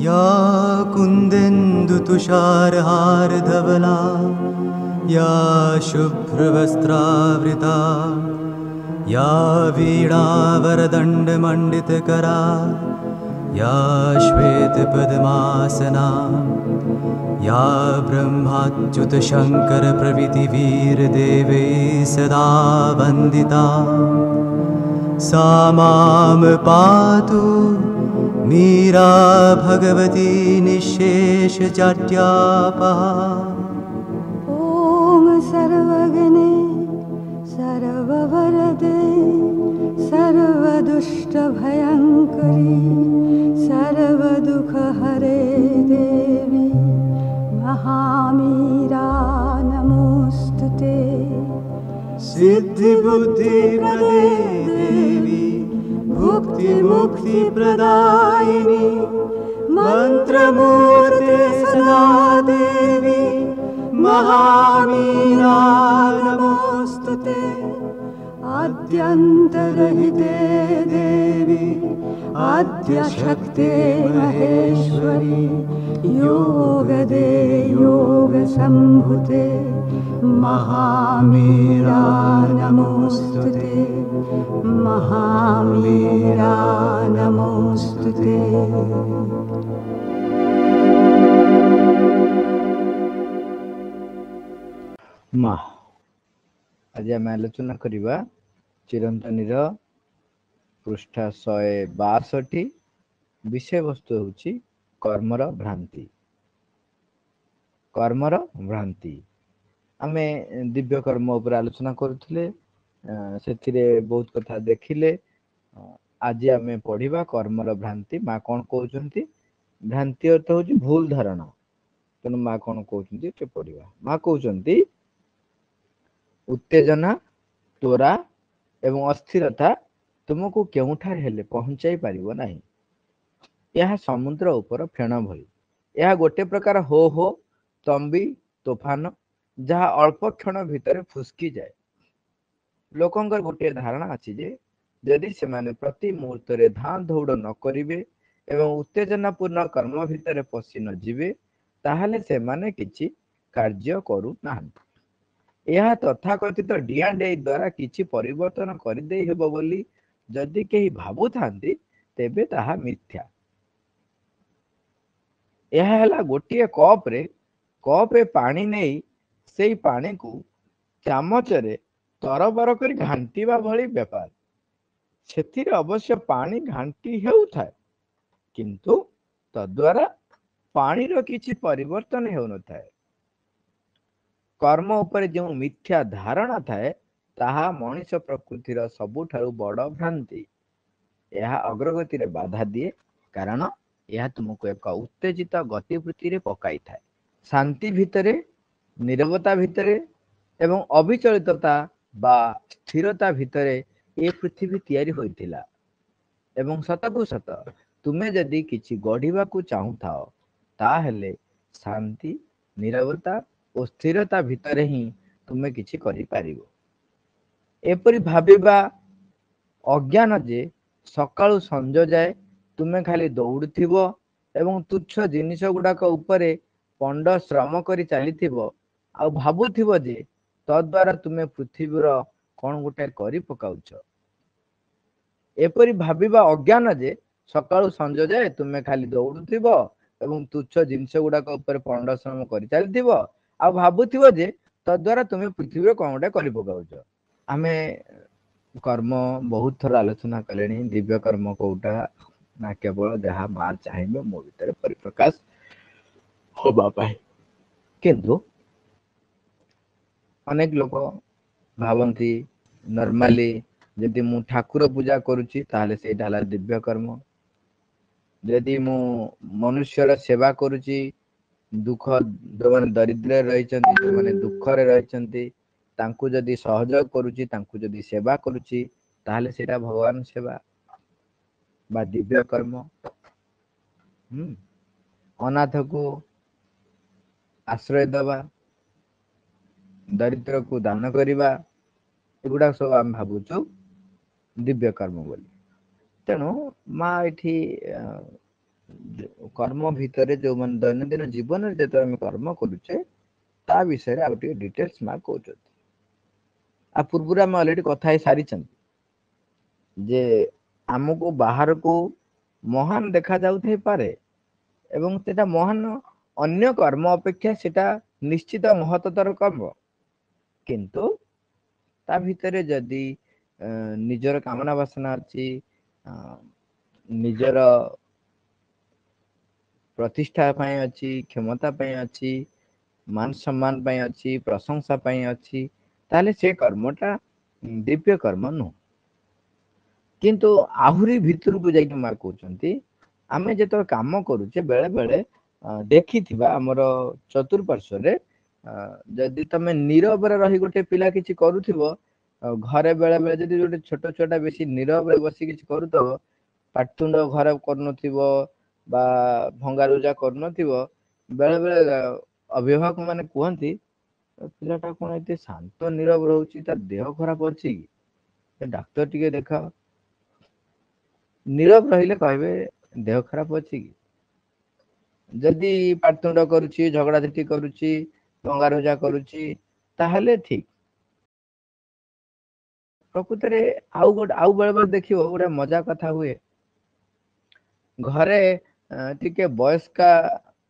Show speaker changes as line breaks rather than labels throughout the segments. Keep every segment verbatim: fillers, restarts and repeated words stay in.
या कुन्देन्दुतुषारहारधवला या शुभ्रवस्त्रावृता या वीणावरदण्डमण्डितकरा या श्वेतपद्मासना या ब्रह्माच्युतशङ्करप्रभृतिवीरदेवैः सदा वन्दिता सा मां पातु मीरा भगवती निःशेषजाड्यापहा।
ॐ सर्वज्ञे सर्ववरदे सर्वदुष्टभयङ्करी सर्वदुःखहरे देवी महामीरा नमोऽस्तु ते।
सिद्धिबुद्धिप्रदे देवी भुक्तिमुक्तिप्रदायिनी मन्त्रमूर्ते सदा देवी महामीरा नमोऽस्तु ते।
आद्यन्तरहिते देवी आद्यशक्ते महेश्वरी योगदे योगसम्भुते महामीरा नमोऽस्तु ते। महामीरा नमोऽस्तु ते।
ମା ଆଜି ଆମେ ଆଲୋଚନା କରିବା ଚିରନ୍ତନୀର ପୃଷ୍ଠା ଶହେ ବାଷଠି। ବିଷୟବସ୍ତୁ ହେଉଛି କର୍ମର ଭ୍ରାନ୍ତି। କର୍ମର ଭ୍ରାନ୍ତି ଆମେ ଦିବ୍ୟ କର୍ମ ଉପରେ ଆଲୋଚନା କରୁଥିଲେ, ସେଥିରେ ବହୁତ କଥା ଦେଖିଲେ। ଆଜି ଆମେ ପଢିବା କର୍ମର ଭ୍ରାନ୍ତି। ମା କଣ କହୁଛନ୍ତି? ଭ୍ରାନ୍ତି ଅର୍ଥ ହଉଛି ଭୁଲ ଧାରଣା। ତେଣୁ ମା କଣ କହୁଛନ୍ତି ଟିକେ ପଢିବା। ମା କହୁଛନ୍ତି ଉତ୍ତେଜନା, ତ୍ୱରା ଏବଂ ଅସ୍ଥିରତା ତୁମକୁ କେଉଁଠାରେ ହେଲେ ପହଞ୍ଚାଇ ପାରିବ ନାହିଁ। ଏହା ସମୁଦ୍ର ଉପର ଫେଣ ଭଳି। ଏହା ଗୋଟେ ପ୍ରକାର ହୋ ହୋ ତମ୍ବି ତୋଫାନ, ଯାହା ଅଳ୍ପ କ୍ଷଣ ଭିତରେ ଫୁସ୍କି ଯାଏ। ଲୋକଙ୍କର ଗୋଟିଏ ଧାରଣା ଅଛି ଯେ ଯଦି ସେମାନେ ପ୍ରତି ମୁହୂର୍ତ୍ତରେ ଧାଁ ଦୌଡ଼ ନ କରିବେ ଏବଂ ଉତ୍ତେଜନାପୂର୍ଣ୍ଣ କର୍ମ ଭିତରେ ପଶି ନ ଯିବେ, ତାହେଲେ ସେମାନେ କିଛି କାର୍ଯ୍ୟ କରୁନାହାନ୍ତି। ଏହା ତଥାକଥିତ ଡିଆଁ ଡେଇଁ ଦ୍ୱାରା କିଛି ପରିବର୍ତ୍ତନ କରିଦେଇ ହେବ ବୋଲି ଯଦି କେହି ଭାବୁଥାନ୍ତି, ତେବେ ତାହା ମିଥ୍ୟା। ଏହା ହେଲା ଗୋଟିଏ କପରେ କପେ ପାଣି ନେଇ ସେଇ ପାଣିକୁ ଚାମଚରେ ତରବର କରି ଘାଣ୍ଟିବା ଭଳି ବେପାର। ସେଥିରେ ଅବଶ୍ୟ ପାଣି ଘାଣ୍ଟି ହେଉଥାଏ, କିନ୍ତୁ ତଦ୍ୱାରା ପାଣିର କିଛି ପରିବର୍ତ୍ତନ ହେଉନଥାଏ। କର୍ମ ଉପରେ ଯେଉଁ ମିଥ୍ୟା ଧାରଣା ଥାଏ, ତାହା ମଣିଷ ପ୍ରକୃତିର ସବୁଠାରୁ ବଡ଼ ଭ୍ରାନ୍ତି। ଏହା ଅଗ୍ରଗତିରେ ବାଧା ଦିଏ, କାରଣ ଏହା ତୁମକୁ ଏକ ଉତ୍ତେଜିତ ଗତିବୃତ୍ତିରେ ପକାଇଥାଏ। ଶାନ୍ତି ଭିତରେ, ନିରବତା ଭିତରେ ଏବଂ ଅବିଚଳିତତା ବା ସ୍ଥିରତା ଭିତରେ ଏ ପୃଥିବୀ ତିଆରି ହୋଇଥିଲା। ଏବଂ ସତକୁ ସତ ତୁମେ ଯଦି କିଛି ଗଢ଼ିବାକୁ ଚାହୁଁଥାଅ, ତାହେଲେ ଶାନ୍ତି, ନିରବତା ଓ ସ୍ଥିରତା ଭିତରେ ହିଁ ତୁମେ କିଛି କରିପାରିବ। ଏପରି ଭାବିବା ଅଜ୍ଞାନ ଯେ ସକାଳୁ ସଞ୍ଜ ଯାଏ ତୁମେ ଖାଲି ଦୌଡୁଥିବ ଏବଂ ତୁଚ୍ଛ ଜିନିଷ ଗୁଡାକ ଉପରେ ପଣ୍ଡ ଶ୍ରମ କରି ଚାଲିଥିବ, ଆଉ ଭାବୁଥିବ ଯେ ତଦ୍ୱାରା ତୁମେ ପୃଥିବୀର କଣ ଗୋଟେ କରି ପକାଉଛ। ଏପରି ଭାବିବା ଅଜ୍ଞାନ ଯେ ସକାଳୁ ସଞ୍ଜ ଯାଏ ତୁମେ ଖାଲି ଦୌଡୁଥିବ ଏବଂ ତୁଚ୍ଛ ଜିନିଷ ଗୁଡାକ ଉପରେ ପଣ୍ଡ ଶ୍ରମ କରି ଚାଲିଥିବ, ଆଉ ଭାବୁଥିବ ଯେ ତଦ୍ୱାରା ତୁମେ ପୃଥିବୀର କଣ ଗୋଟେ କରି ପକାଉଛ। ଆମେ କର୍ମ ବହୁତ ଥର ଆଲୋଚନା କଲେଣି। ଦିବ୍ୟ କର୍ମ କୋଉଟା ନା କେବଳ ଯାହା ମା ଚାହିଁବେ ମୋ ଭିତରେ ପରିପ୍ରକାଶ ହବା ପାଇଁ। କିନ୍ତୁ ଅନେକ ଲୋକ ଭାବନ୍ତି ନର୍ମାଲି ଯଦି ମୁଁ ଠାକୁର ପୂଜା କରୁଛି ତାହେଲେ ସେଇଟା ହେଲା ଦିବ୍ୟ କର୍ମ। ଯଦି ମୁଁ ମନୁଷ୍ୟର ସେବା କରୁଛି, ଦୁଃଖ ଯୋଉମାନେ ଦରିଦ୍ରରେ ରହିଛନ୍ତି, ଯୋଉମାନେ ଦୁଃଖରେ ରହିଛନ୍ତି, ତାଙ୍କୁ ଯଦି ସହଯୋଗ କରୁଛି, ତାଙ୍କୁ ଯଦି ସେବା କରୁଛି, ତାହେଲେ ସେଇଟା ଭଗବାନ ସେବା ବା ଦିବ୍ୟ କର୍ମ। ହୁଁ ଅନାଥକୁ ଆଶ୍ରୟ ଦେବା, ଦରିଦ୍ରକୁ ଦାନ କରିବା, ଏଗୁଡାକ ସବୁ ଆମେ ଭାବୁଛୁ ଦିବ୍ୟ କର୍ମ ବୋଲି। ତେଣୁ ମା ଏଠି କର୍ମ ଭିତରେ ଯୋଉମାନେ ଦୈନନ୍ଦିନ ଜୀବନରେ ଯେତେବେଳେ ଆମେ କର୍ମ କରୁଛେ ତା ବିଷୟରେ ଆଉ ଟିକେ ଡିଟେଲ୍ସ ମା କହୁଛନ୍ତି। ଆ ପୂର୍ବରୁ ଆମେ ଅଲରେଡି କଥା ହେଇ ସାରିଛନ୍ତି ଯେ ଆମକୁ ବାହାରକୁ ମହାନ ଦେଖା ଯାଉଥାଇପାରେ ଏବଂ ସେଟା ମହାନ ଅନ୍ୟ କର୍ମ ଅପେକ୍ଷା ସେଟା ନିଶ୍ଚିତ ମହତ୍ତର କର୍ମ, କିନ୍ତୁ ତା ଭିତରେ ଯଦି ନିଜର କାମନା ବାସନା ଅଛି, ନିଜର ପ୍ରତିଷ୍ଠା ପାଇଁ ଅଛି, କ୍ଷମତା ପାଇଁ ଅଛି, ମାନ ସମ୍ମାନ ପାଇଁ ଅଛି, ପ୍ରଶଂସା ପାଇଁ ଅଛି, ତାହେଲେ ସେ କର୍ମଟା ଦିବ୍ୟ କର୍ମ ନୁହଁ। କିନ୍ତୁ ଆହୁରି ଭିତରକୁ ଯାଇକି ମା କହୁଛନ୍ତି ଆମେ ଯେତେବେଳେ କାମ କରୁଛେ ବେଳେ ବେଳେ ଦେଖିଥିବା ଆମର ଚତୁଃପାର୍ଶ୍ୱରେ ଯଦି ତମେ ନୀରବରେ ରହି ଗୋଟେ ପିଲା କିଛି କରୁଥିବ, ଘରେ ବେଳେ ବେଳେ ଯଦି ଗୋଟେ ଛୋଟ ଛୁଆଟା ବେଶୀ ନୀରବରେ ବସି କିଛି କରୁଥିବ, ପାଟିତୁଣ୍ଡ ଘରେ କରୁନଥିବ ବା ଭଙ୍ଗାରୁଜା କରୁନଥିବ, ବେଳେ ବେଳେ ଅଭିଭାବକ ମାନେ କୁହନ୍ତି ପିଲାଟା କଣ ଏତେ ଶାନ୍ତ ନୀରବ ରହୁଛି, ତା ଦେହ ଖରାପ ଅଛି କି, ଡାକ୍ତର ଟିକେ ଦେଖାଅ। ନୀରବ ରହିଲେ କହିବେ ଦେହ ଖରାପ ଅଛି କି। ଯଦି ପାଟିତୁଣ୍ଡ କରୁଛି, ଝଗଡ଼ାଝାଟି କରୁଛି, ଭଙ୍ଗାରୁଜା କରୁଛି, ତାହେଲେ ଠିକ। ପ୍ରକୃତରେ ଆଉ ଗୋଟେ ଆଉ ବେଳେ ବେଳେ ଦେଖିବ ଗୋଟେ ମଜା କଥା ହୁଏ, ଘରେ ଟିକେ ବୟସ୍କା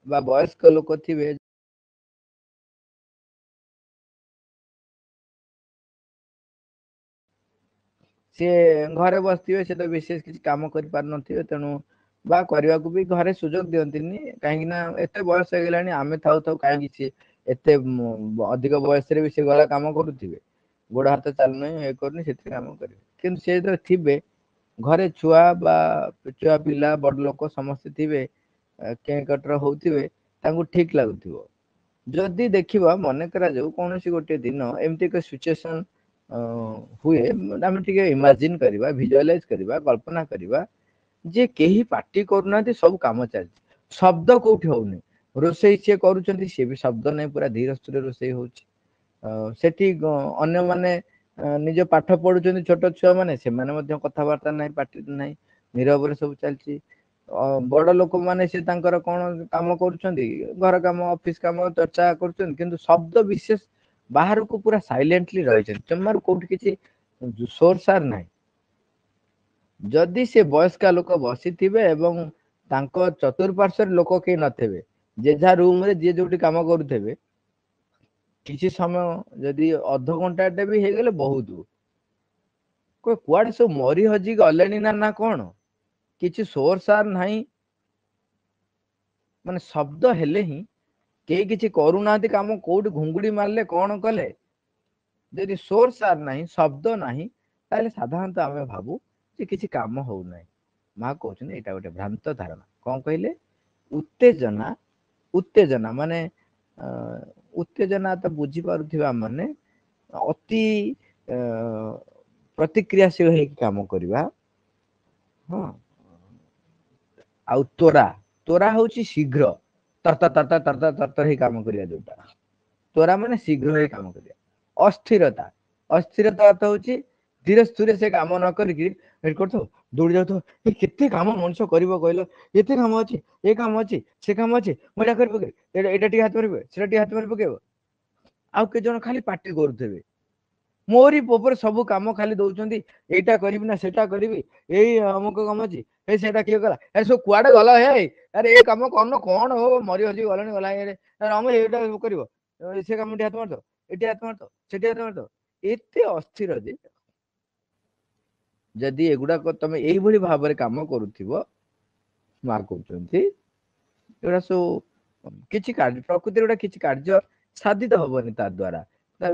ବା ବୟସ୍କ ଲୋକ ଥିବେ, ସିଏ ଘରେ ବସିଥିବେ, ସେ ତ ବିଶେଷ କିଛି କାମ କରିପାରୁନଥିବେ, ତେଣୁ ବା କରିବାକୁ ବି ଘରେ ସୁଯୋଗ ଦିଅନ୍ତିନି, କାହିଁକି ନା ଏତେ ବୟସ ହେଇଗଲାଣି, ଆମେ ଥାଉ ଥାଉ କାହିଁକି ସିଏ ଏତେ ଅଧିକ ବୟସରେ ବି ସେ ଘରେ କାମ କରୁଥିବେ, ଗୋଡ଼ ହାତ ଚାଲୁନାହିଁ, ଇଏ କରୁନି, ସେଥିରେ କାମ କରିବେ। କିନ୍ତୁ ସେ ଯେତେବେଳେ ଥିବେ ଘରେ ଛୁଆ ବା ଛୁଆ ପିଲା ବଡ଼ ଲୋକ ସମସ୍ତେ ଥିବେ, କେଁ କଟର ହଉଥିବେ, ତାଙ୍କୁ ଠିକ ଲାଗୁଥିବ। ଯଦି ଦେଖିବା ମନେ କରାଯାଉ କୌଣସି ଗୋଟେ ଦିନ ଏମିତି ଏକ ସିଚୁଏସନ ହୁଏ, ଆମେ ଟିକେ ଇମାଜିନ କରିବା, ଭିଜୁଆଲାଇଜ କରିବା, କଳ୍ପନା କରିବା ଯେ କେହି ପାଟି କରୁନାହାନ୍ତି, ସବୁ କାମ ଚାଲିଛି, ଶବ୍ଦ କୋଉଠି ହଉନି, ରୋଷେଇ ସିଏ କରୁଛନ୍ତି, ସିଏ ବି ଶବ୍ଦ ନାହିଁ, ପୁରା ଧୀର ସ୍ଥିର ରୋଷେଇ ହଉଛି, ସେଠି ଅନ୍ୟମାନେ ନିଜ ପାଠ ପଢୁଛନ୍ତି, ଛୋଟ ଛୁଆ ମାନେ, ସେମାନେ ମଧ୍ୟ କଥାବାର୍ତ୍ତା ନାହିଁ, ପାଟି ନାହିଁ, ନୀରବରେ ସବୁ ଚାଲିଛି। ବଡ ଲୋକମାନେ ସେ ତାଙ୍କର କଣ କାମ କରୁଛନ୍ତି, ଘର କାମ, ଅଫିସ କାମ, ଚର୍ଚ୍ଚା କରୁଛନ୍ତି, କିନ୍ତୁ ଶବ୍ଦ ବିଶେଷ ବାହାରକୁ ପୁରା ସାଇଲେଣ୍ଟଲି ରହିଛନ୍ତି, ଜମାରୁ କୋଉଠି କିଛି ସୋର ସାର ନାହିଁ। ଯଦି ସେ ବୟସ୍କା ଲୋକ ବସିଥିବେ ଏବଂ ତାଙ୍କ ଚତୁଃପାର୍ଶ୍ୱରେ ଲୋକ କେହି ନଥିବେ, ଯେଝା ରୁମରେ ଯିଏ ଯୋଉଠି କାମ କରୁଥିବେ, କିଛି ସମୟ ଯଦି ଅଧଘଣ୍ଟାଟେ ବି ହେଇଗଲେ ବହୁତ, କୁଆଡେ ସବୁ ମରି ହଜି ଗଲେଣି ନା ନା କଣ, କିଛି ସୋର ସାର ନାହିଁ, ମାନେ ଶବ୍ଦ ହେଲେ ହିଁ କେହି କିଛି କରୁନାହାନ୍ତି କାମ, କୋଉଠି ଘୁଙ୍ଗୁଡି ମାରିଲେ କଣ କଲେ, ଯଦି ସୋର ସାର ନାହିଁ, ଶବ୍ଦ ନାହିଁ, ତାହେଲେ ସାଧାରଣତଃ ଆମେ ଭାବୁ ଯେ କିଛି କାମ ହଉନାହିଁ। ମା କହୁଛନ୍ତି ଏଇଟା ଗୋଟେ ଭ୍ରାନ୍ତ ଧାରଣା। କଣ କହିଲେ? ଉତ୍ତେଜନା, ଉତ୍ତେଜନା ମାନେ ଉତ୍ତେଜନା ତ ବୁଝିପାରୁଥିବା ମାନେ ଅତି ପ୍ରତିକ୍ରିୟାଶୀଳ ହେଇକି କାମ କରିବା। ହଁ, ଆଉ ତ୍ୱରା, ତ୍ୱରା ହଉଛି ଶୀଘ୍ର, ତରତର ତରତର ତରତର ତରତର ହେଇ କାମ କରିବା, ଯୋଉଟା ତ୍ୱରା ମାନେ ଶୀଘ୍ର ହେଇ କାମ କରିବା। ଅସ୍ଥିରତା, ଅସ୍ଥିରତା ଅର୍ଥ ହଉଛି ଧୀରେ ସ୍ଥିରେ ସେ କାମ ନ କରିକି ଏଠି କରୁଥିବ, ଦୌଡ଼ି ଯାଉଥିବ, ଏ କେତେ କାମ ମଣିଷ କରିବ କହିଲ, ଏତେ କାମ ଅଛି, ଏ କାମ ଅଛି, ସେ କାମ ଅଛି, ମୁଁ ଏଇଟା କରି ପକେଇବି, ଏଇଟା ଏଇଟା ଟିକେ ହାତ ମାରି ପକେଇବ, ସେଟା ଟିକେ ହାତ ମାରି ପକେଇବ। ଆଉ କେତେ ଜଣ ଖାଲି ପାଟି କରୁଥିବେ, ମୋରି ଉପରେ ସବୁ କାମ ଖାଲି ଦଉଛନ୍ତି, ଏଇଟା କରିବି ନା ସେଟା କରିବି, ଏଇ ଅମୁକ କାମ ଅଛି, ଏଇ ସେଇଟା କିଏ କଲା, ଏ ସବୁ କୁଆଡେ ଗଲା, ହେ ଆରେ ଏ କାମ କରୁନ କଣ ହବ, ମରି ହଜି ଗଲାଣି ଗଲା, ରମ ଏଇଟା କରିବ, ସେ କାମ ଟିକେ ହାତ ମାରିଦବ, ଏଠି ହାତ ମାରିଦବ, ସେଠି ହାତ ମାରିଦବ, ଏତେ ଅସ୍ଥିର ଯେ ଯଦି ଏଗୁଡାକ ତମେ ଏଇଭଳି ଭାବରେ କାମ କରୁଥିବ, ମା କହୁଛନ୍ତି ଏଗୁଡା ସବୁ କିଛି କାର୍ଯ୍ୟ ପ୍ରକୃତିରେ ଗୋଟା କିଛି କାର୍ଯ୍ୟ ସାଧିତ ହବନି ତା ଦ୍ଵାରା।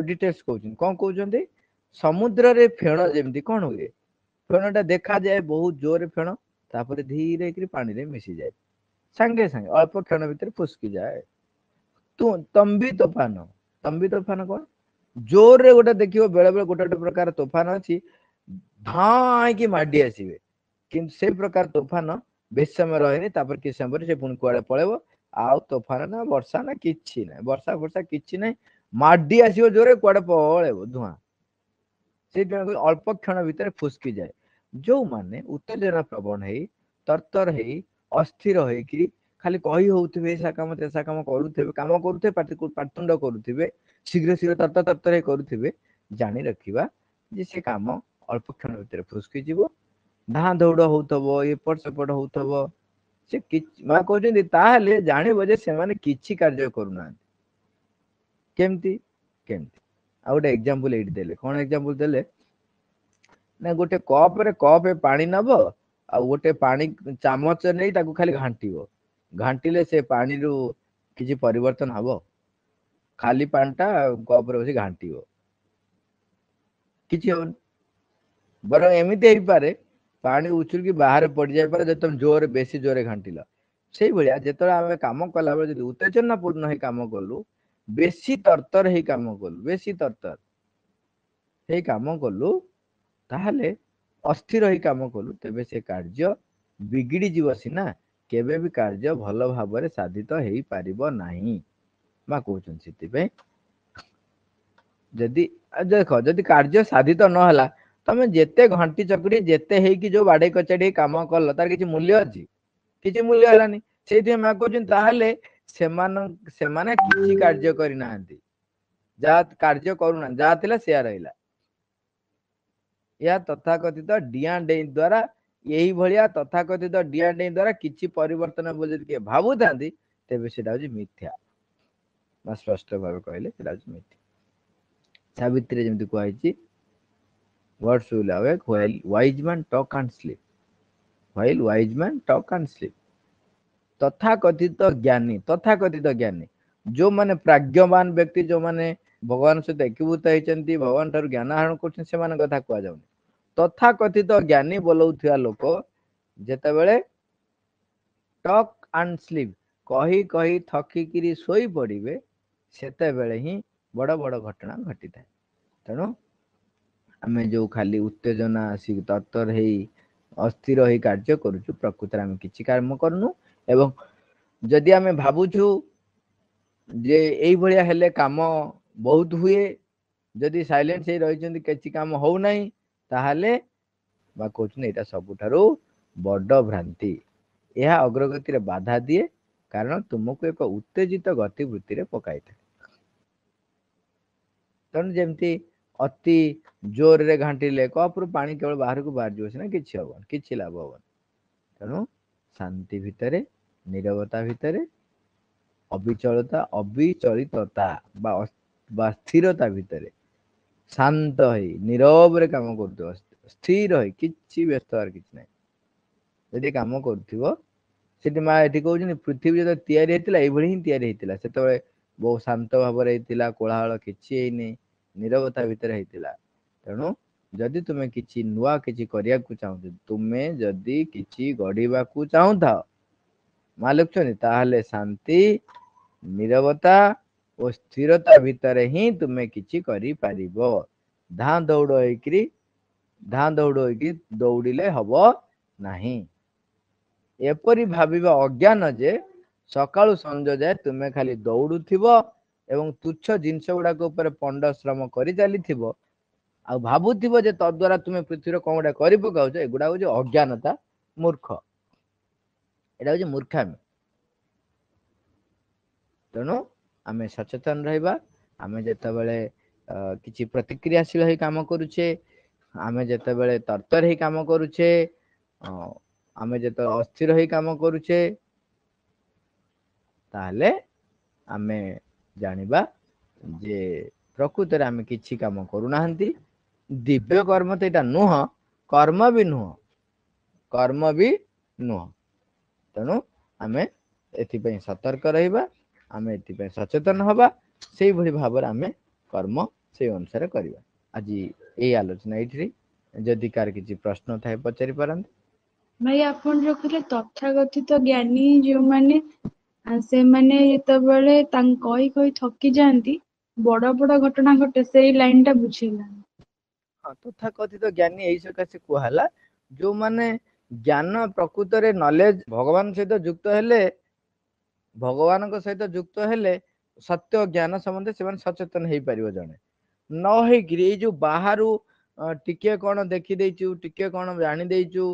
ଡିଟେଲ୍ସ କହୁଛନ୍ତି, କଣ କହୁଛନ୍ତି? ସମୁଦ୍ରରେ ଫେଣ ଯେମିତି କଣ ହୁଏ, ଫେଣଟା ଦେଖାଯାଏ ବହୁତ ଜୋରରେ ଫେଣ, ତାପରେ ଧୀରେ କରି ପାଣିରେ ମିଶିଯାଏ, ସାଙ୍ଗେ ସାଙ୍ଗେ ଅଳ୍ପ କ୍ଷଣ ଭିତରେ ଫୁସ୍କି ଯାଏ। ତମ୍ବି ତୋଫାନ, ତମ୍ବି ତୋଫାନ କଣ? ଜୋରରେ ଗୋଟେ ଦେଖିବ ବେଳେ ବେଳେ ଗୋଟେ ଗୋଟେ ପ୍ରକାର ତୋଫାନ ଅଛି, ଧାଇଁକି ମାଡି ଆସିବେ, କିନ୍ତୁ ସେଇ ପ୍ରକାର ତୋଫାନ ବେଶୀ ସମୟ ରହେନି, ତାପରେ କିଛି ସମୟ ପରେ ସେ ପୁଣି କୁଆଡେ ପଳେଇବ, ଆଉ ତୋଫାନ ନା ବର୍ଷା ନା କିଛି ନାହିଁ, ବର୍ଷା ଫର୍ଷା କିଛି ନାହିଁ, ମାଡି ଆସିବ ଜୋରେ, କୁଆଡେ ପଳେଇବ ଧୂଆଁ, ସେଇଥିପାଇଁ ଅଳ୍ପ କ୍ଷଣ ଭିତରେ ଫୁସ୍କି ଯାଏ। ଯୋଉମାନେ ଉତ୍ତେଜନା ପ୍ରବଣ ହେଇ ତରତର ହେଇ ଅସ୍ଥିର ହେଇକିରି ଖାଲି କହି ହଉଥିବେ, ଏସା କାମ ତେସା କାମ କରୁଥିବେ, କାମ କରୁଥିବେ, ପାଟି ପାଟିତୁଣ୍ଡ କରୁଥିବେ, ଶୀଘ୍ର ଶୀଘ୍ର ତରତର ତରତର ହେଇ କରୁଥିବେ, ଜାଣି ରଖିବା ଯେ ସେ କାମ ଅଳ୍ପ କ୍ଷଣ ଭିତରେ ଫୁସକି ଯିବ। ଧାଁ ଦୌଡ଼ ହଉଥିବ, ଏପଟ ସେପଟ ହଉଥିବ, ସେ କିଛି, ମା କହୁଛନ୍ତି ତାହେଲେ ଜାଣିବ ଯେ ସେମାନେ କିଛି କାର୍ଯ୍ୟ କରୁନାହାନ୍ତି। କେମିତି କେମିତି ଆଉ ଗୋଟେ ଏକ୍ଜାମ୍ପଲ ଏଇଠି ଦେଲେ। କଣ ଏକ୍ଜାମ୍ପଲ ଦେଲେ ନା, ଗୋଟେ କପରେ କପେ ପାଣି ନବ ଆଉ ଗୋଟେ ପାଣି ଚାମଚ ନେଇ ତାକୁ ଖାଲି ଘାଣ୍ଟିବ। ଘାଣ୍ଟିଲେ ସେ ପାଣିରୁ କିଛି ପରିବର୍ତ୍ତନ ହବ? ଖାଲି ପାଣିଟା କପରେ ବସି ଘାଣ୍ଟିବ, କିଛି ହବନି। ବରଂ ଏମିତି ହେଇପାରେ ପାଣି ଉଛୁଳିକି ବାହାରେ ପଡିଯାଇପାରେ ଯଦି ତମେ ଜୋରେ ବେଶୀ ଜୋରେ ଘାଣ୍ଟିଲ। ସେଇଭଳିଆ ଯେତେବେଳେ ଆମେ କାମ କଲାବେଳେ ଯଦି ଉତ୍ତେଜନାପୂର୍ଣ୍ଣ ହେଇ କାମ କଲୁ, ବେଶୀ ତରତର ହେଇ କାମ କଲୁ, ବେଶୀ ତରତର ହେଇ କାମ କଲୁ, ତାହେଲେ ଅସ୍ଥିର ହେଇ କାମ କଲୁ, ତେବେ ସେ କାର୍ଯ୍ୟ ବିଗିଡି ଯିବ ସିନା, କେବେ ବି କାର୍ଯ୍ୟ ଭଲ ଭାବରେ ସାଧିତ ହେଇପାରିବ ନାହିଁ। ମା କହୁଛନ୍ତି ସେଥିପାଇଁ ଯଦି ଦେଖ, ଯଦି କାର୍ଯ୍ୟ ସାଧିତ ନହେଲା, ତମେ ଯେତେ ଘଣ୍ଟି ଚକଡି ଯେତେ ହେଇକି ଯୋଉ ବାଡେଇ କଚାଡି କାମ କଲ, ତାର କିଛି ମୂଲ୍ୟ ଅଛି? କିଛି ମୂଲ୍ୟ ହେଲାନି। ସେଇଥିପାଇଁ ମା କହୁଛନ୍ତି ତାହେଲେ ସେମାନ ସେମାନେ କିଛି କାର୍ଯ୍ୟ କରିନାହାନ୍ତି, ଯାହା କାର୍ଯ୍ୟ କରୁନାହାନ୍ତି, ଯାହା ଥିଲା ସେୟା ରହିଲା। ଏହା ତଥାକଥିତ ଡିଆଁ ଡେଇଁ ଦ୍ଵାରା, ଏଇଭଳିଆ ତଥାକଥିତ ଡିଆଁ ଡେଇଁ ଦ୍ଵାରା କିଛି ପରିବର୍ତ୍ତନ ବୋଲି ଯଦି କିଏ ଭାବୁଥାନ୍ତି, ତେବେ ସେଟା ହଉଛି ମିଥ୍ୟା। ମା ସ୍ପଷ୍ଟ ଭାବେ କହିଲେ ସେଟା ହଉଛି ମିଥ୍ୟା। ସାବିତ୍ରୀରେ ଯେମିତି କୁହାଯାଇଛି, Gods will awake while wise man talk and sleep. While wise man talk and sleep. ତଥାକଥିତ ଜ୍ଞାନୀ, ତଥାକଥିତ ଜ୍ଞାନୀ ଯୋଉମାନେ ପ୍ରାଜ୍ଞବାନ ବ୍ୟକ୍ତି, ଯୋଉମାନେ ଭଗବାନ ସହିତ ଏକୀଭୂତ ହେଇଛନ୍ତି, ଭଗବାନ ଠାରୁ ଜ୍ଞାନ ଆହରଣ କରୁଛନ୍ତି, ସେମାନଙ୍କ କଥା କୁହାଯାଉନି। ତଥାକଥିତ ଜ୍ଞାନୀ ବୋଲଉଥିବା ଲୋକ ଯେତେବେଳେ ଟକ୍ ଆଣ୍ଡ ସ୍ଲିପ୍, କହି କହି ଥକିକିରି ଶୋଇ ପଡିବେ, ସେତେବେଳେ ହିଁ ବଡ ବଡ ଘଟଣା ଘଟିଥାଏ। ତେଣୁ ଆମେ ଯୋଉ ଖାଲି ଉତ୍ତେଜନା ଆସିକି ତରତର ହେଇ ଅସ୍ଥିର ହେଇ କାର୍ଯ୍ୟ କରୁଛୁ, ପ୍ରକୃତରେ ଆମେ କିଛି କାମ କରୁନୁ। ଏବଂ ଯଦି ଆମେ ଭାବୁଛୁ ଯେ ଏଇଭଳିଆ ହେଲେ କାମ ବହୁତ ହୁଏ, ଯଦି ସାଇଲେନ୍ସ ହେଇ ରହିଛନ୍ତି କିଛି କାମ ହଉନାହିଁ, ତାହେଲେ ବା କହୁଛନ୍ତି ଏଇଟା ସବୁଠାରୁ ବଡ ଭ୍ରାନ୍ତି। ଏହା ଅଗ୍ରଗତିରେ ବାଧା ଦିଏ, କାରଣ ତୁମକୁ ଏକ ଉତ୍ତେଜିତ ଗତିବୃତ୍ତିରେ ପକାଇଥାଏ। ତେଣୁ ଯେମିତି ଅତି ଜୋରରେ ଘାଣ୍ଟିଲେ କପରୁ ପାଣି କେବଳ ବାହାରକୁ ବାହାରିଯିବ ସିନା, କିଛି ହବନି, କିଛି ଲାଭ ହବନି। ତେଣୁ ଶାନ୍ତି ଭିତରେ, ନିରବତା ଭିତରେ, ଅବିଚଳତା, ଅବିଚଳିତତା ବା ବା ସ୍ଥିରତା ଭିତରେ ଶାନ୍ତ ହେଇ ନିରବରେ କାମ କରୁଥିବ, ସ୍ଥିର ହେଇ, କିଛି ବ୍ୟସ୍ତ ହବାର କିଛି ନାହିଁ। ଯଦି କାମ କରୁଥିବ, ସେଠି ମା ଏଠି କହୁଛନ୍ତି ପୃଥିବୀ ଯେତେବେଳେ ତିଆରି ହେଇଥିଲା ଏଇଭଳି ହିଁ ତିଆରି ହେଇଥିଲା। ସେତେବେଳେ ବହୁତ ଶାନ୍ତ ଭାବରେ ହେଇଥିଲା, କୋଳାହଳ କିଛି ହେଇନି, ନିରବତା ଭିତରେ ହେଇଥିଲା। ତେଣୁ ଯଦି ତୁମେ କିଛି ନୂଆ କିଛି କରିବାକୁ ଚାହୁଁଛ, ତୁମେ ଯଦି କିଛି ଗଢିବାକୁ ଚାହୁଁଥାଅ, ମା ଲେଖୁଛନ୍ତି, ତାହେଲେ ଶାନ୍ତି, ନିରବତା ଓ ସ୍ଥିରତା ଭିତରେ ହିଁ ତୁମେ କିଛି କରିପାରିବ। ଧାଁ ଦୌଡ଼ ହେଇକିରି ଧାଁ ଦୌଡ଼ ହେଇକି ଦୌଡ଼ିଲେ ହବ ନାହିଁ। ଏପରି ଭାବିବା ଅଜ୍ଞାନ ଯେ ସକାଳୁ ସଞ୍ଜ ଯାଏ ତୁମେ ଖାଲି ଦୌଡୁଥିବ ଏବଂ ତୁଚ୍ଛ ଜିନିଷ ଗୁଡାକ ଉପରେ ପଣ୍ଡ ଶ୍ରମ କରି ଚାଲିଥିବ, ଆଉ ଭାବୁଥିବ ଯେ ତଦ୍ୱାରା ତୁମେ ପୃଥିବୀର କଣ ଗୋଟେ କରି ପକାଉଛ, ଏଗୁଡା ହଉଛି ଅଜ୍ଞାନତା, ମୂର୍ଖ, ଏଇଟା ହଉଛି ମୂର୍ଖାମି। ତେଣୁ ଆମେ ସଚେତନ ରହିବା। ଆମେ ଯେତେବେଳେ କିଛି ପ୍ରତିକ୍ରିୟାଶୀଳ ହେଇ କାମ କରୁଛେ, ଆମେ ଯେତେବେଳେ ତରତର ହେଇ କାମ କରୁଛେ, ଆମେ ଯେତେବେଳେ ଅସ୍ଥିର ହେଇ କାମ କରୁଛେ, ତାହେଲେ ଆମେ ଜାଣିବା ଯେ ପ୍ରକୃତରେ ଆମେ କିଛି କାମ କରୁନାହାନ୍ତି। ଦିବ୍ୟ କର୍ମ ତ ଏଇଟା ନୁହଁ, କର୍ମ ବି ନୁହଁ, କର୍ମ ବି ନୁହଁ। ତେଣୁ ଆମେ ଏଥିପାଇଁ ସତର୍କ ରହିବା, ଆମେ ଏଥିପାଇଁ ସଚେତନ ହବା, ସେଇଭଳି ଭାବରେ ଆମେ କର୍ମ ସେଇ ଅନୁସାରେ କରିବା। ଆଜି ଏଇ ଆଲୋଚନା ଏଇଠି। ଯଦି କାହାର କିଛି ପ୍ରଶ୍ନ ଥାଏ ପଚାରି ପାରନ୍ତି।
ଭାଇ, ଆପଣ ଯୋଉ କହିଲେ ତଥାକଥିତ ଜ୍ଞାନୀ ଯୋଉମାନେ, ସେମାନେ ଯେତେବେଳେ ତାଙ୍କ କହି କହି ଥକି ଯାଆନ୍ତି, ବଡ ବଡ ଘଟଣା ଘଟେ, ସେଇ ଲାଇନ ଟା ବୁଝିହେଲାନି।
ହଁ, ତଥାକଥିତ ଜ୍ଞାନୀ ଏଇ ସକାଶେ କୁହାହେଲା, ଯୋଉମାନେ ଜ୍ଞାନ ପ୍ରକୃତରେ ନଲେଜ ଭଗବାନ ସହିତ ଯୁକ୍ତ ହେଲେ, ଭଗବାନଙ୍କ ସହିତ ଯୁକ୍ତ ହେଲେ ସତ୍ୟ ଜ୍ଞାନ ସମ୍ବନ୍ଧରେ ସେମାନେ ସଚେତନ ହେଇପାରିବ। ଜଣେ ନ ହେଇକିରି ଏଇ ଯୋଉ ବାହାରୁ ଟିକେ କଣ ଦେଖିଦେଇଛୁ, ଟିକେ କଣ ଜାଣି ଦେଇଛୁ,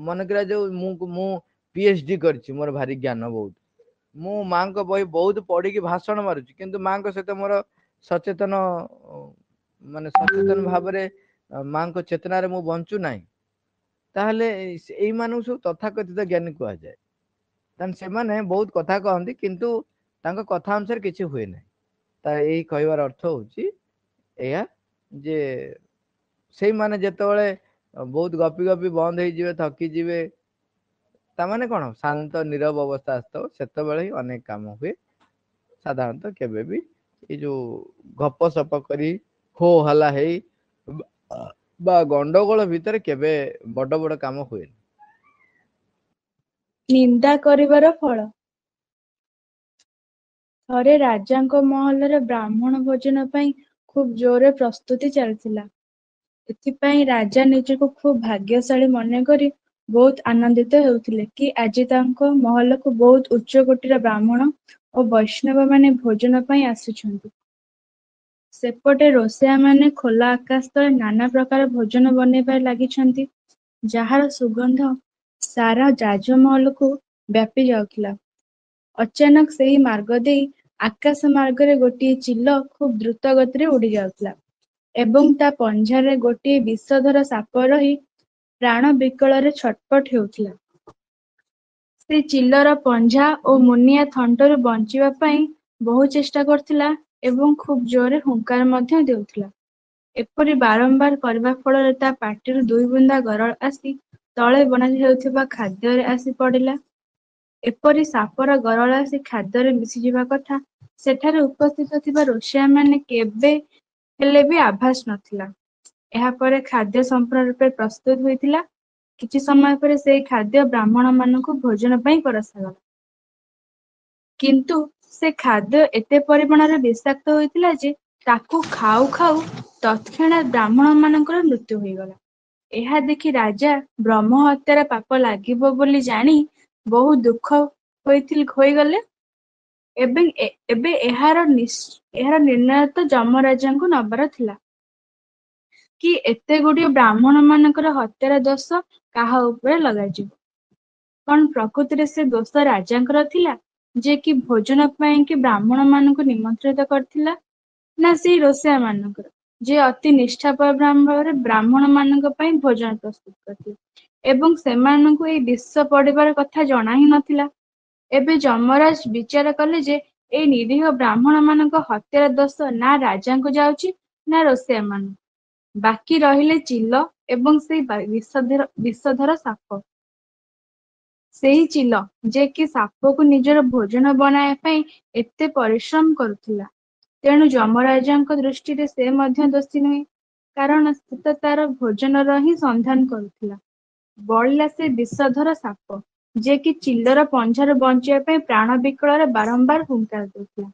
ମନେକର ଯୋଉ ମୁଁ ମୁଁ ପି ଏଚ୍ ଡି କରିଛି, ମୋର ଭାରି ଜ୍ଞାନ ବହୁତ, ମୁଁ ମାଙ୍କ ବହି ବହୁତ ପଢିକି ଭାଷଣ ମାରୁଛି, କିନ୍ତୁ ମାଙ୍କ ସହିତ ମୋର ସଚେତନ, ମାନେ ସଚେତନ ଭାବରେ ମାଙ୍କ ଚେତନାରେ ମୁଁ ବଞ୍ଚୁ ନାହିଁ, ତାହେଲେ ଏଇମାନଙ୍କୁ ସବୁ ତଥାକଥିତ ଜ୍ଞାନୀ କୁହାଯାଏ। ତାହେଲେ ସେମାନେ ବହୁତ କଥା କହନ୍ତି, କିନ୍ତୁ ତାଙ୍କ କଥା ଅନୁସାରେ କିଛି ହୁଏ ନାହିଁ। ତା ଏଇ କହିବାର ଅର୍ଥ ହଉଛି ଏଇଆ ଯେ ସେଇମାନେ ଯେତେବେଳେ ବହୁତ ଗପି ଗପି ବନ୍ଦ ହେଇଯିବେ, ଥକିଯିବେ, ତାମାନେ କଣ ଶାନ୍ତ ନିରବ ଅବସ୍ଥା ଆସିଥିବ, ସେତେବେଳେ ହିଁ ଅନେକ କାମ ହୁଏ। ସାଧାରଣତଃ କେବେ ବି ଏଇ ଯୋଉ ଗପ ସପ କରି ହୋ ହଲ୍ଲା ହେଇ ବା ଗଣ୍ଡଗୋଳ ଭିତରେ କେବେ ବଡ ବଡ କାମ ହୁଏନି।
ନିନ୍ଦା କରିବାର ଫଳ। ଥରେ ରାଜାଙ୍କ ମହଲରେ ବ୍ରାହ୍ମଣ ଭୋଜନ ପାଇଁ ଖୁବ ଜୋରରେ ପ୍ରସ୍ତୁତି ଚାଲିଥିଲା। ଏଥିପାଇଁ ରାଜା ନିଜକୁ ଖୁବ ଭାଗ୍ୟଶାଳୀ ମନେକରି ବହୁତ ଆନନ୍ଦିତ ହେଉଥିଲେ କି ଆଜି ତାଙ୍କ ମହଲକୁ ବହୁତ ଉଚ୍ଚକୋଟୀର ବ୍ରାହ୍ମଣ ଓ ବୈଷ୍ଣବମାନେ ଭୋଜନ ପାଇଁ ଆସୁଛନ୍ତି। ସେପଟେ ରୋଷେଇଆମାନେ ଖୋଲା ଆକାଶ ତଳେ ନାନା ପ୍ରକାର ଭୋଜନ ବନେଇବାରେ ଲାଗିଛନ୍ତି, ଯାହାର ସୁଗନ୍ଧ ସାରା ରାଜମହଲକୁ ବ୍ୟାପି ଯାଉଥିଲା। ଅଚାନକ ସେହି ମାର୍ଗ ଦେଇ ଆକାଶ ମାର୍ଗରେ ଗୋଟିଏ ଚିଲ ଖୁବ ଦ୍ରୁତ ଗତିରେ ଉଡ଼ି ଯାଉଥିଲା ଏବଂ ତା ପଞ୍ଝାରେ ଗୋଟିଏ ବିଷଧର ସାପ ରହି ପ୍ରାଣ ବିକଳରେ ଛଟପଟ ହେଉଥିଲା। ସେ ଚିଲର ପଞ୍ଝା ଓ ମୁନିଆ ଥଣ୍ଟରୁ ବଞ୍ଚିବା ପାଇଁ ବହୁ ଚେଷ୍ଟା କରୁଥିଲା ଏବଂ ଖୁବ ଜୋରରେ ହୁଙ୍କାର ମଧ୍ୟ ଦେଉଥିଲା। ଏପରି ବାରମ୍ବାର କରିବା ଫଳରେ ତା ପାଟିରୁ ଦୁଇ ବୁନ୍ଦା ଗରଳ ଆସି ତଳେ ବନା ହେଉଥିବା ଖାଦ୍ୟରେ ଆସି ପଡ଼ିଲା। ଏପରି ସାପର ଗରଳ ଆସି ଖାଦ୍ୟରେ ମିଶିଯିବା କଥା ସେଠାରେ ଉପସ୍ଥିତ ଥିବା ରୋଷେଇଆମାନେ କେବେ ହେଲେ ବି ଆଭାସ ନଥିଲା। ଏହାପରେ ଖାଦ୍ୟ ସମ୍ପୂର୍ଣ୍ଣ ରୂପେ ପ୍ରସ୍ତୁତ ହୋଇଥିଲା। କିଛି ସମୟ ପରେ ସେହି ଖାଦ୍ୟ ବ୍ରାହ୍ମଣମାନଙ୍କୁ ଭୋଜନ ପାଇଁ ପରସାଗଲା। କିନ୍ତୁ ସେ ଖାଦ୍ୟ ଏତେ ପରିମାଣରେ ବିଷାକ୍ତ ହୋଇଥିଲା ଯେ ତାକୁ ଖାଉ ଖାଉ ତତ୍କ୍ଷଣାତ୍ ବ୍ରାହ୍ମଣମାନଙ୍କର ମୃତ୍ୟୁ ହୋଇଗଲା। ଏହା ଦେଖି ରାଜା ବ୍ରହ୍ମ ହତ୍ୟାର ପାପ ଲାଗିବ ବୋଲି ଜାଣି ବହୁ ଦୁଃଖ ହୋଇଗଲେ ଏବଂ ଏବେ ଏହାର ଏହାର ନିର୍ଣ୍ଣୟ ତ ଯମରାଜଙ୍କୁ ନବାର ଥିଲା କି ଏତେ ଗୁଡ଼ିଏ ବ୍ରାହ୍ମଣମାନଙ୍କର ହତ୍ୟାର ଦୋଷ କାହା ଉପରେ ଲଗାଯିବ। କଣ ପ୍ରକୃତରେ ସେ ଦୋଷ ରାଜାଙ୍କର ଥିଲା, ଯେ କି ଭୋଜନ ପାଇଁ କି ବ୍ରାହ୍ମଣମାନଙ୍କୁ ନିମନ୍ତ୍ରିତ କରିଥିଲା, ନା ସେଇ ରୋଷେଇଆମାନଙ୍କର, ଯେ ଅତି ନିଷ୍ଠାପର ଭାବରେ ବ୍ରାହ୍ମଣମାନଙ୍କ ପାଇଁ ଭୋଜନ ପ୍ରସ୍ତୁତ କରିଥିଲେ ଏବଂ ସେମାନଙ୍କୁ ଏଇ ବିଷ ପଡ଼ିବାର କଥା ଜଣା ହିଁ ନଥିଲା? ଏବେ ଯମରାଜ ବିଚାର କଲେ ଯେ ଏଇ ନିରୀହ ବ୍ରାହ୍ମଣମାନଙ୍କ ହତ୍ୟାର ଦୋଷ ନା ରାଜାଙ୍କୁ ଯାଉଛି ନା ରୋଷେଇଆମାନଙ୍କୁ। ବାକି ରହିଲେ ଚିଲ ଏବଂ ସେଇ ବିଷଧର ବିଷଧର ସାପ। ସେହି ଚିଲ, ଯେ କି ସାପକୁ ନିଜର ଭୋଜନ ବନାଇବା ପାଇଁ ଏତେ ପରିଶ୍ରମ କରୁଥିଲା। ତେଣୁ ଯମରାଜଙ୍କ ଦୃଷ୍ଟିରେ ସେ ମଧ୍ୟ ଦୋଷୀ ନୁହେଁ, କାରଣ ସେ ତ ତାର ଭୋଜନର ହିଁ ସନ୍ଧାନ କରୁଥିଲା। ବଳିଲା ସେ ବିଷଧର ସାପ, ଯେ କି ଚିଲର ପଞ୍ଝାରୁ ବଞ୍ଚିବା ପାଇଁ ପ୍ରାଣ ବିକଳରେ ବାରମ୍ବାର ହୁଙ୍କାର ଦେଉଥିଲା,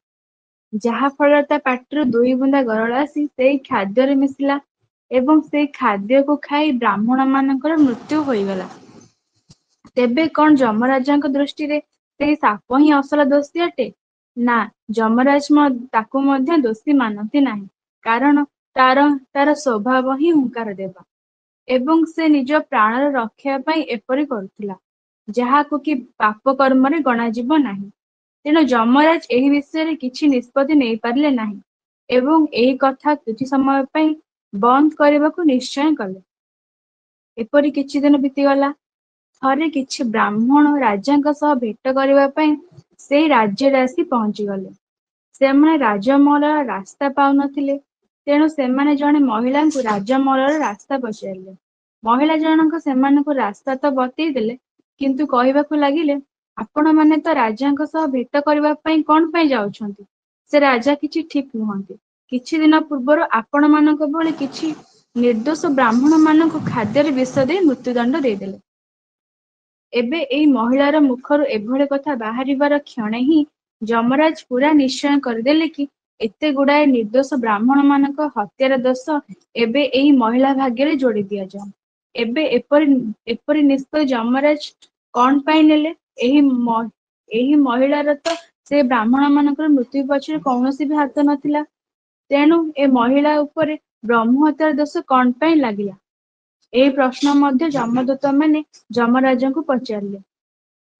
ଯାହା ଫଳରେ ତା ପାଟିରୁ ଦୁଇ ବୁନ୍ଦା ଗରଳ ଆସି ସେଇ ଖାଦ୍ୟରେ ମିଶିଲା ଏବଂ ସେଇ ଖାଦ୍ୟକୁ ଖାଇ ବ୍ରାହ୍ମଣମାନଙ୍କର ମୃତ୍ୟୁ ହୋଇଗଲା। ତେବେ କଣ ଯମରାଜଙ୍କ ଦୃଷ୍ଟିରେ ସେହି ସାପ ହିଁ ଅସଲ ଦୋଷୀ ଅଟେ? ନା, ଯମରାଜ ତାକୁ ମଧ୍ୟ ଦୋଷୀ ମାନନ୍ତି ନାହିଁ, କାରଣ ତାର ତାର ସ୍ୱଭାବ ହିଁ ହୁଙ୍କାର ଦେବା ଏବଂ ସେ ନିଜ ପ୍ରାଣର ରକ୍ଷା ପାଇଁ ଏପରି କରୁଥିଲା, ଯାହାକୁ କି ପାପ କର୍ମରେ ଗଣାଯିବ ନାହିଁ। ତେଣୁ ଯମରାଜ ଏହି ବିଷୟରେ କିଛି ନିଷ୍ପତ୍ତି ନେଇପାରିଲେ ନାହିଁ ଏବଂ ଏହି କଥା କିଛି ସମୟ ପାଇଁ ବନ୍ଦ କରିବାକୁ ନିଶ୍ଚୟ କଲେ। ଏପରି କିଛି ଦିନ ବିତିଗଲା। ଥରେ କିଛି ବ୍ରାହ୍ମଣ ରାଜାଙ୍କ ସହ ଭେଟ କରିବା ପାଇଁ ସେଇ ରାଜ୍ୟରେ ଆସି ପହଞ୍ଚିଗଲେ। ସେମାନେ ରାଜମହଲର ରାସ୍ତା ପାଉନଥିଲେ, ତେଣୁ ସେମାନେ ଜଣେ ମହିଳାଙ୍କୁ ରାଜମହଲର ରାସ୍ତା ପଚାରିଲେ। ମହିଳା ଜଣକ ସେମାନଙ୍କୁ ରାସ୍ତା ତ ବତେଇ ଦେଲେ, କିନ୍ତୁ କହିବାକୁ ଲାଗିଲେ, ଆପଣମାନେ ତ ରାଜାଙ୍କ ସହ ଭେଟ କରିବା ପାଇଁ କଣ ପାଇଁ ଯାଉଛନ୍ତି? ସେ ରାଜା କିଛି ଠିକ ନୁହନ୍ତି। କିଛି ଦିନ ପୂର୍ବରୁ ଆପଣମାନଙ୍କ ଭଳି କିଛି ନିର୍ଦ୍ଦୋଷ ବ୍ରାହ୍ମଣମାନଙ୍କୁ ଖାଦ୍ୟରେ ବିଷ ଦେଇ ମୃତ୍ୟୁଦଣ୍ଡ ଦେଇଦେଲେ। ଏବେ ଏଇ ମହିଳାର ମୁଖରୁ ଏଭଳି କଥା ବାହାରିବାର କ୍ଷଣେ ହିଁ ଯମରାଜ ପୁରା ନିଶ୍ଚୟ କରିଦେଲେ କି ଏତେ ଗୁଡାଏ ନିର୍ଦ୍ଦୋଷ ବ୍ରାହ୍ମଣମାନଙ୍କ ହତ୍ୟାର ଦୋଷ ଏବେ ଏଇ ମହିଳା ଭାଗ୍ୟରେ ଯୋଡି ଦିଆଯାଉ। ଏବେ ଏପରି ଏପରି ନିଷ୍ପତ୍ତି ଯମରାଜ କଣ ପାଇଁ ନେଲେ? ଏହି ଏହି ମହିଳାର ତ ସେ ବ୍ରାହ୍ମଣମାନଙ୍କର ମୃତ୍ୟୁ ପଛରେ କୌଣସି ବି ହାତ ନଥିଲା। ତେଣୁ ଏ ମହିଳା ଉପରେ ବ୍ରହ୍ମ ହତ୍ୟାର ଦୋଷ କଣ ପାଇଁ ଲାଗିଲା? ଏହି ପ୍ରଶ୍ନ ମଧ୍ୟ ଯମଦୂତମାନେ ଯମରାଜଙ୍କୁ ପଚାରିଲେ।